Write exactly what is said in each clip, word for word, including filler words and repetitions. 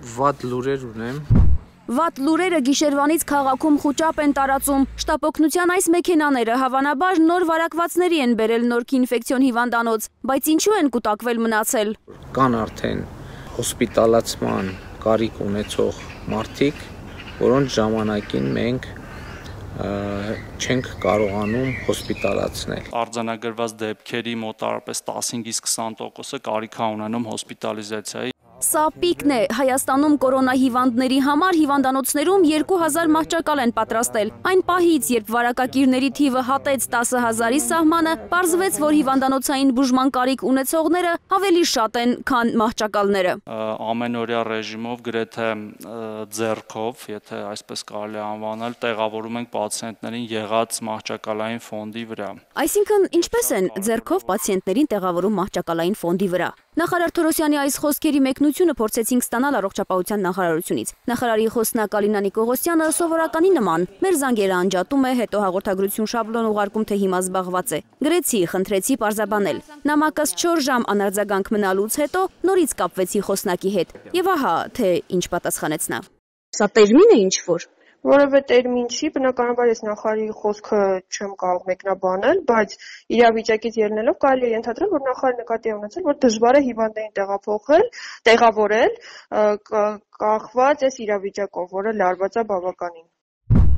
Վատ լուրեր ունեմ։ Վատ լուրերը գիշերվանից քաղաքում խուճապ են տարածում։ Շտապօգնության այս մեքենաները հավանաբար նոր վարակվածների են բերել Նորքի ինֆեկցիոն հիվանդանոց, բայց ինչու են կուտակվել մնացել։ Կան արդեն հոսպիտալացման կարիք ունեցող մարդիկ, որոնց ժամանակին մենք չենք կարողանում հոսպիտալացնել։ Արձանագրված դեպքերի մոտարապես տասնհինգից քսան տոկոսը կարիք է ունենում հոսպիտալիզացիայի։ Սա պիկն է։ Հայաստանում կորոնա հիվանդների համար հիվանդանոցներում երկու հազար մահճակալ են պատրաստել։ Այն պահից, երբ վարակակիրների թիվը հատեց տասը հազարի սահմանը, պարզվեց, որ հիվանդանոցային բուժման կարիք ունեցողները ավելի շատ են, քան մահճակալները։ Ամենօրյա ռեժիմով գրեթե ձեռքով, եթե այսպես կարելի է անվանել, տեղավորում ենք պացիենտներին եղած մահճակալային ֆոնդի վրա։ Այսինքն, ինչպես են ձեռքով պացիենտներին տեղավորում մահճակալային ֆոնդի վրա։ Նախարար Թորոսյանի այս խոսքերի մեկնությունը փորձեցինք ստանալ առողջապահության նախարարությունից։ Նախարարի խոսնակ Ալինա Նիկողոսյանը սովորականի նման մեր զանգերը անջատում է, հետո հաղորդագրություն շաբլոն ուղարկում, թե հիմա զբաղված է։ Գրեցի, խնդրեցի պարզաբանել։ Նամակս չորս ժամ անարձագանք մնալուց հետո նորից կապվեցի խոսնակի հետ։ Եվ ահա, թե ինչ պատասխանեց նա։ Սա տերմին է ինչ-որ։ Որևէ տերմին չի, բնականաբար ես նախարարի խոսքը չեմ կարող մեկնաբանել, բայց իրավիճակից ելնելով կարելի է ենթադրել, որ նախարարը նկատի է ունեցել, որ դժվար է հիվանդներին տեղափոխել, տեղավորել, կախված այս իրավիճակով, որը լարված է բավականին։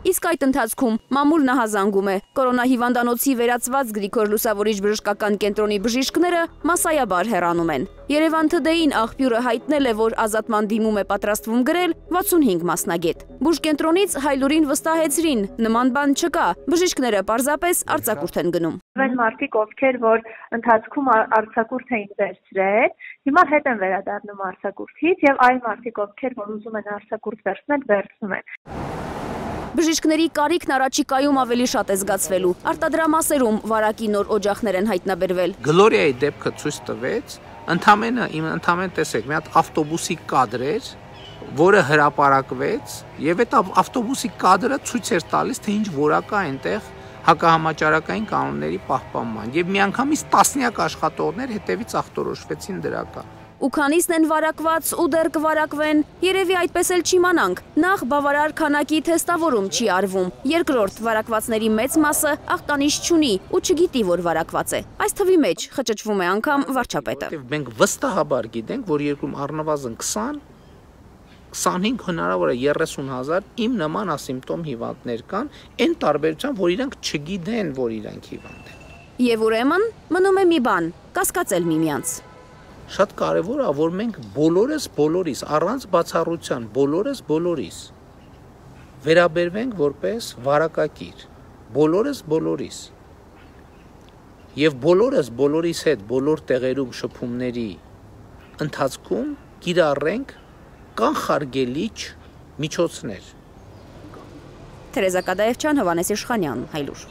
Իսկ այդ ընթացքում մամուլ նահազանգում է։ Կորոնա հիվանդանոցի վերածված Գրիգոր Լուսավորիչ բժշկական կենտրոնի բժիշկները մասսայաբար հեռանում են։ Երևան Թ-ին աղբյուրը հայտնել է, որ ազատման դիմում է պատրաստվում գրել վաթսունհինգ մասնագետ։ Բուժկենտրոնից Հայլուրին վստահեցրին, նման բան չկա, բժիշկները պարզապես արձակուրդ են գնում։ Այն մարդիկ, ովքեր որ ընթացքում արձակուրդ էին վերցրել, հիմա հետ են վերադառնում արձակուրդից եւ այլ մարդիկ, ովքեր որ ուզում են արձակուրդ վերցնել, վերցնում են։ Բժիշկների կարիքն առաջիկայում ավելի շատ է զգացվելու։ Արտադրամասերում վարակի նոր օջախներ են հայտնաբերվել։ Գլորիայի դեպքը ցույց տվեց, ընդամենը իմ ընդամենը տեսեք, մի հատ ավտոբուսի կադր էր, որը հրապարակվեց, եւ այդ ավտոբուսի կադրը ցույց էր տալիս, թե ինչ որակ է այնտեղ հակահամաճարակային կանոնների պահպանման։ Եվ միանգամից տասնյակ աշխատողներ հետևից ախտորոշվեցին դրական։ Ու քանիսն են վարակված ու դեռ կվարակվեն, երևի այդպես էլ չիմանանք։ Նախ բավարար քանակի թեստավորում չի արվում։ Երկրորդ, վարակվածների մեծ մասը ախտանիշ չունի ու չգիտի, որ վարակված է։ Այս թվի մեջ խճճվում է անգամ վարչապետը։ Մենք վստահաբար գիտենք, որ երկրում առնվազն քսան քսանհինգ հնարավոր է երեսուն հազար իմ նման ասիմպտոմ հիվանդներ կան, այն տարբերությամբ, որ իրանք չգիտեն, որ իրանք հիվանդ են։ Եվ ուրեմն մնում է մի բան՝ կասկածել միմյանց։ Շատ կարևոր է, որ մենք բոլորս բոլորիս, առանց բացառության, բոլորս բոլորիս վերաբերվենք որպես վարակակիր, բոլորս բոլորիս։ Եվ բոլորս բոլորիս հետ բոլոր տեղերում շփումների ընթացքում կիրառենք կանխարգելիչ միջոցներ։ Թերեզա Կադաևչյան, Հովհաննես Իշխանյան, Հայլուր։